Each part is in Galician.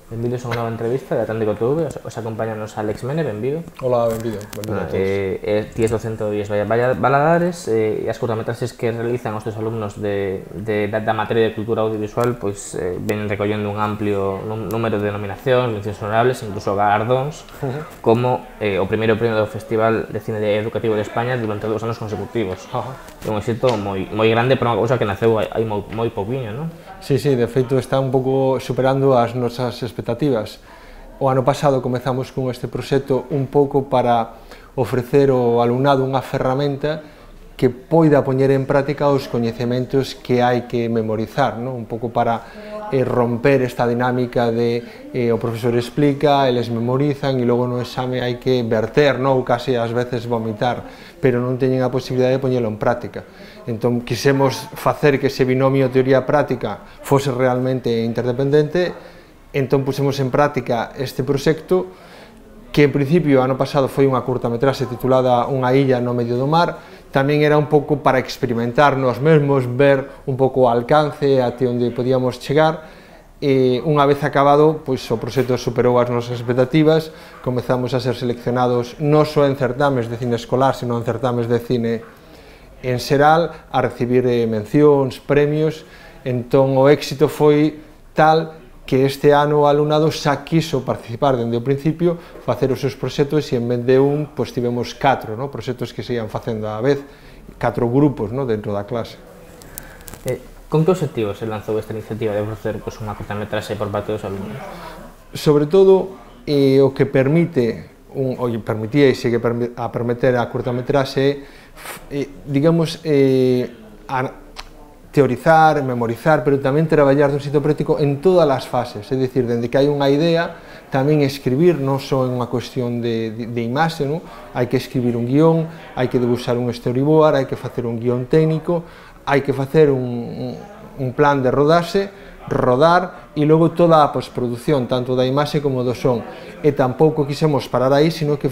Benvidos a unha nova entrevista de Atlántico TV. Os acompañanos Alex Mene, benvido. Hola, benvido a todos. Ti es docente do IES Valadares e as curtametraxes que realizan os teus alumnos da materia de cultura audiovisual pois ven recollendo un amplio número de nominacións, mencións honorables, incluso galardóns, como o primeiro premio do Festival de Cine Educativo de España durante 2 anos consecutivos. É un éxito moi grande para unha cousa que naceu hai moi pouquiño, non? Sí, de feito está un pouco superando as nosas expectativas. O ano pasado comezamos con este proxecto un pouco para ofrecer ao alumnado unha ferramenta que poida poñer en práctica os coñecementos que hai que memorizar, non? Un pouco para romper esta dinámica de o profesor explica, eles memorizan e logo no exame hai que verter, non? Ou case ás veces vomitar, pero non teñen a posibilidade de poñelo en práctica. Entón, quisemos facer que ese binomio teoría-práctica fose realmente interdependente, entón pusemos en práctica este proxecto que en principio ano pasado foi unha curtametraxe titulada Unha illa no medio do mar. Tamén era un pouco para experimentar nos mesmos, ver un pouco o alcance até onde podíamos chegar, e unha vez acabado, pois o proxecto superou as nosas expectativas, comezamos a ser seleccionados non só en certames de cine escolar, sino en certames de cine en xeral, a recibir mencións, premios. Entón o éxito foi tal que este ano o alumnado xa quiso participar dende o principio, facer os seus proxectos, e en vez de un, pois tivemos 4 proxectos que se ian facendo á vez, 4 grupos dentro da clase. Con que obxectivos se lanzou esta iniciativa de ofrecer unha curtametraxe por parte dos alumnos? Sobre todo, o que permite, o que permitía e segue a permitir a curtametraxe digamos, teorizar, memorizar, pero tamén traballar dun xeito práctico en todas as fases, é dicir, dende que hai unha idea, tamén escribir, non só en unha cuestión de imaxe, hai que escribir un guión, hai que debuxar un storyboard, hai que facer un guión técnico, hai que facer un plan de rodaxe, rodar, e logo toda a postproducción, tanto da imaxe como do son. E tampouco quixemos parar aí, sino que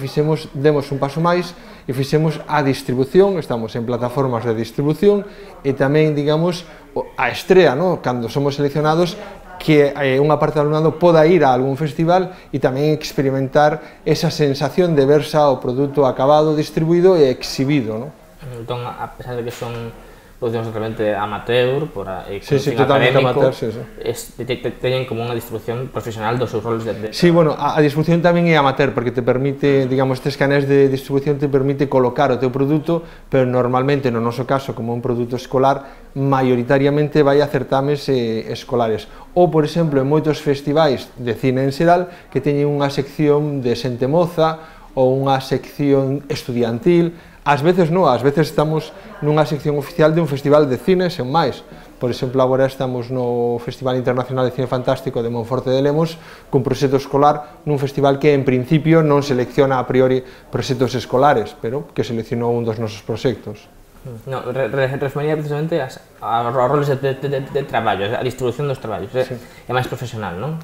demos un paso máis e fixemos a distribución, estamos en plataformas de distribución, e tamén, digamos, a estrea, cando somos seleccionados, que unha parte do alumnado poda ir a algún festival e tamén experimentar esa sensación de ver xa o produto acabado, distribuído e exhibido. Entón, a pesar de que son producións realmente amateur, totalmente amateur, teñen como unha distribución profesional dos seus roles de... Sí, bueno, a distribución tamén é amateur, porque te permite, digamos, estes canais de distribución te permite colocar o teu produto, pero normalmente, no noso caso, como un produto escolar, maioritariamente vai a certames escolares. Ou, por exemplo, en moitos festivais de cine en xeral, que teñen unha sección de xente moza, ou unha sección estudiantil. Ás veces estamos nunha sección oficial de un festival de cine, sen máis. Por exemplo, agora estamos no Festival Internacional de Cine Fantástico de Monforte de Lemos, cun proxecto escolar nun festival que en principio non selecciona a priori proxectos escolares, pero que seleccionou un dos nosos proxectos. Refería precisamente aos roles de traballo, a distribución dos traballos, é máis profesional, non?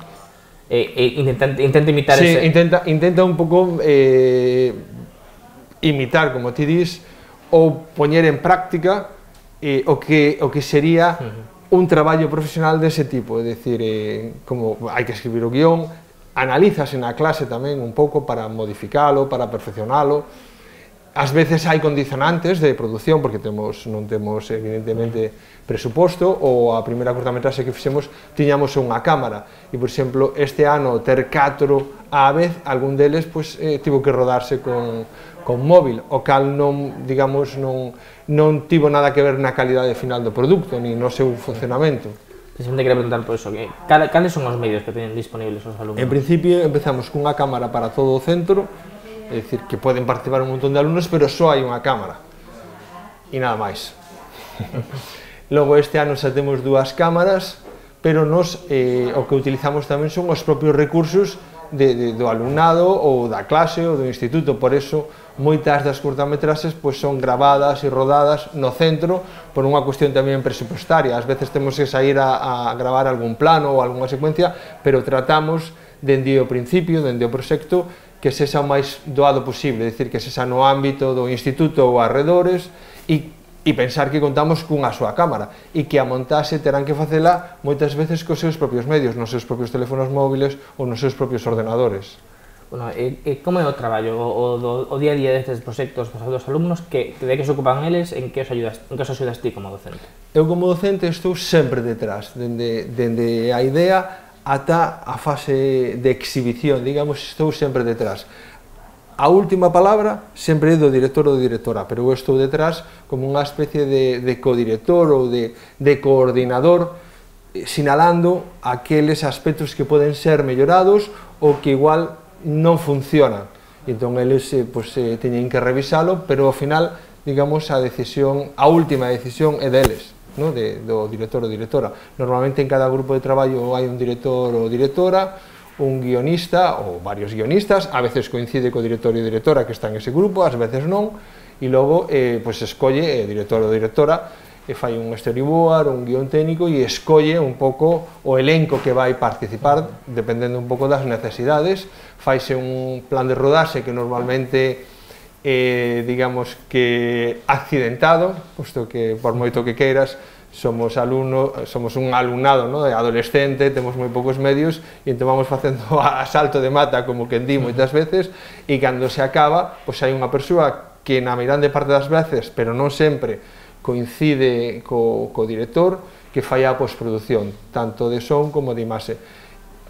Intenta imitar ese... Intenta un pouco imitar, como ti dis, ou poñer en práctica o que sería un traballo profesional dese tipo, é dicir, como hai que escribir o guión, analízase na clase tamén un pouco para modificalo, para perfeccionalo. Ás veces hai condicionantes de produción, porque non temos evidentemente presuposto, ou a primeira curtametraxe que fixemos tiñamos unha cámara, e, por exemplo, este ano ter 4 á vez, algún deles tivo que rodarse con móvil, o cal non tivo nada que ver na calidade final do produto, nin no seu funcionamento. Precisamente quería preguntar por eso, cales son os medios que teñen disponibles os alumnos? En principio empezamos cunha cámara para todo o centro, é dicir, que poden participar un montón de alumnos, pero só hai unha cámara e nada máis. Logo este ano xa temos 2 cámaras, pero o que utilizamos tamén son os propios recursos do alumnado ou da clase ou do instituto. Por eso moitas das curtametraxes son gravadas e rodadas no centro por unha cuestión tamén presupuestaria. Ás veces temos que sair a gravar algún plano ou algunha secuencia, pero tratamos dende o principio, dende o proxecto, que sexa o máis doado posible, é dicir, que sexa no ámbito do instituto ou arredores, e e pensar que contamos cunha súa cámara e que a montaxe terán que facela moitas veces cos seus propios medios, nos seus propios teléfonos móviles ou nos seus propios ordenadores. Bueno, como é o traballo, o día a día destes proxectos dos alumnos, de que se ocupan eles, en que os axudas ti como docente? Eu como docente estou sempre detrás, dende a idea ata a fase de exhibición, digamos, estou sempre detrás. A última palabra sempre é do director ou directora, pero eu estou detrás como unha especie de codirector ou de coordinador, sinalando aqueles aspectos que poden ser mellorados ou que igual non funcionan. Entón, eles teñen que revisalo, pero ao final, digamos, a última decisión é deles, do director ou directora. Normalmente en cada grupo de traballo hai un director ou directora, un guionista ou varios guionistas, a veces coincide co director e directora que está en ese grupo, ás veces non, e logo escolle director ou directora, fai un storyboard, un guión técnico e escolle un pouco o elenco que vai participar, dependendo un pouco das necesidades, faise un plan de rodaxe que normalmente digamos que accidentado, posto que por moito que queiras, somos un alumnado adolescente, temos moi poucos medios e entón vamos facendo a salto de mata, como que di moitas veces, e cando se acaba, hai unha persoa que na meirande parte das veces, pero non sempre, coincide co director, que fai a postproducción, tanto de son como de imaxe.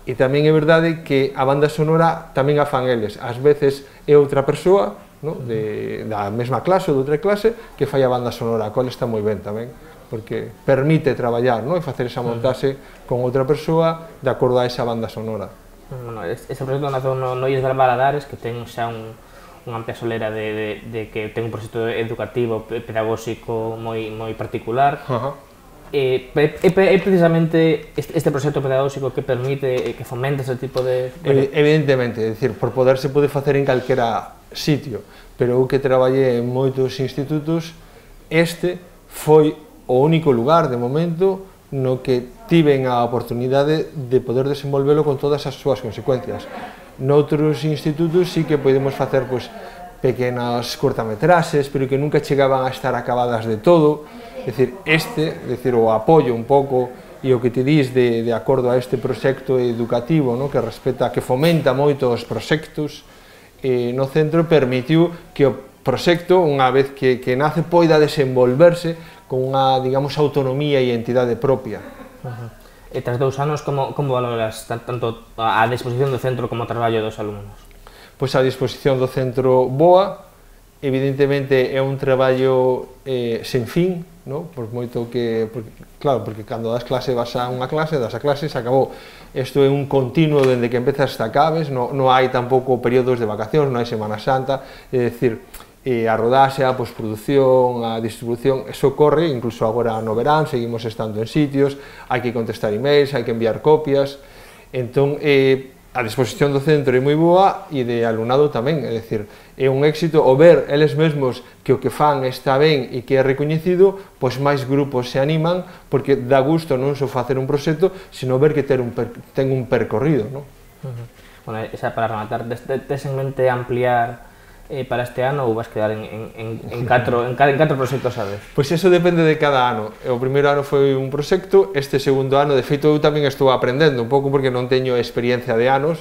E tamén é verdade que a banda sonora tamén a fan eles, ás veces é outra persoa da mesma clase ou de outra clase que fai a banda sonora, a cual está moi ben tamén, porque permite traballar e facer esa montaxe con outra persoa de acordo a esa banda sonora. Ese proxecto naceu no IES Valadares, que ten xa unha amplia solera de que ten un proxecto educativo, pedagóxico moi particular. É precisamente este proxecto pedagóxico que permite, que fomenta ese tipo de... Evidentemente, é dicir, por poder se pode facer en calquera sitio, pero eu que traballei en moitos institutos, este foi o único lugar, de momento, no que tiven a oportunidade de poder desenvolvelo con todas as súas consecuencias. Noutros institutos sí que podemos facer pequenas cortametraxes, pero que nunca chegaban a estar acabadas de todo. É dicir, o apoio un pouco e o que te dis de acordo a este proxecto educativo que fomenta moito os proxectos no centro, permitiu que o proxecto, unha vez que nace, poida desenvolverse con unha, digamos, autonomía e entidade propia. E tras 2 anos, como valoras tanto a disposición do centro como o traballo dos alumnos? Pois a disposición do centro boa, evidentemente é un traballo sen fin, por moito que, claro, porque cando das clase vas a unha clase, das a clase, se acabou. Isto é un continuo dende que empezas hasta acabes, non hai tampouco períodos de vacacións, non hai Semana Santa, é dicir, a rodaxe, a postproducción, a distribución, eso corre, incluso agora no verán, seguimos estando en sitios, hai que contestar emails, hai que enviar copias, entón a disposición do centro é moi boa e de alumnado tamén, é dicir, é un éxito o ver eles mesmos que o que fan está ben e que é recoñecido, pois máis grupos se animan, porque dá gusto non só facer un proxecto, sino ver que ten un percorrido, non? Bueno, para rematar, tes en mente ampliar para este ano ou vas quedar en 4 proxectos a vez? Pois eso depende de cada ano. O primeiro ano foi un proxecto, este segundo ano, de feito, eu tamén estou aprendendo un pouco porque non teño experiencia de anos.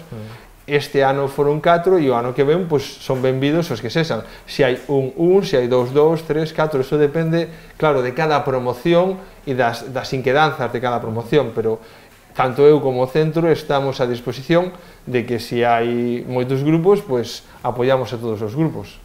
Este ano foron 4 e o ano que ven son benvidos os que sexan. Se hai un, se hai 2, 3, 4, eso depende, claro, de cada promoción e das inquedanzas de cada promoción, pero tanto eu como o centro estamos a disposición de que se hai moitos grupos, pois apoiamos a todos os grupos.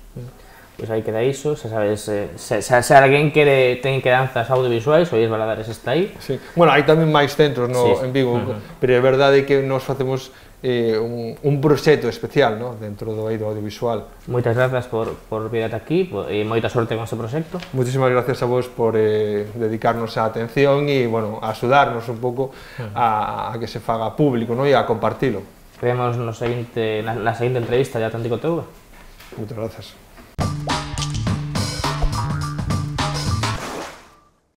Pois aí queda iso, se sabes, se alguén ten quedanzas audiovisuais, o IES Valadares está aí. Bueno, hai tamén máis centros en Vigo, pero é verdade que nos facemos un proxecto especial dentro do eido audiovisual. Moitas grazas por vir ata aquí e moita sorte con ese proxecto. Moitísimas gracias a vos por dedicarnos a atención e a axudarnos un pouco a que se faga público e a compartilo. Vemos na seguinte entrevista de Atlántico TV. Moitas grazas.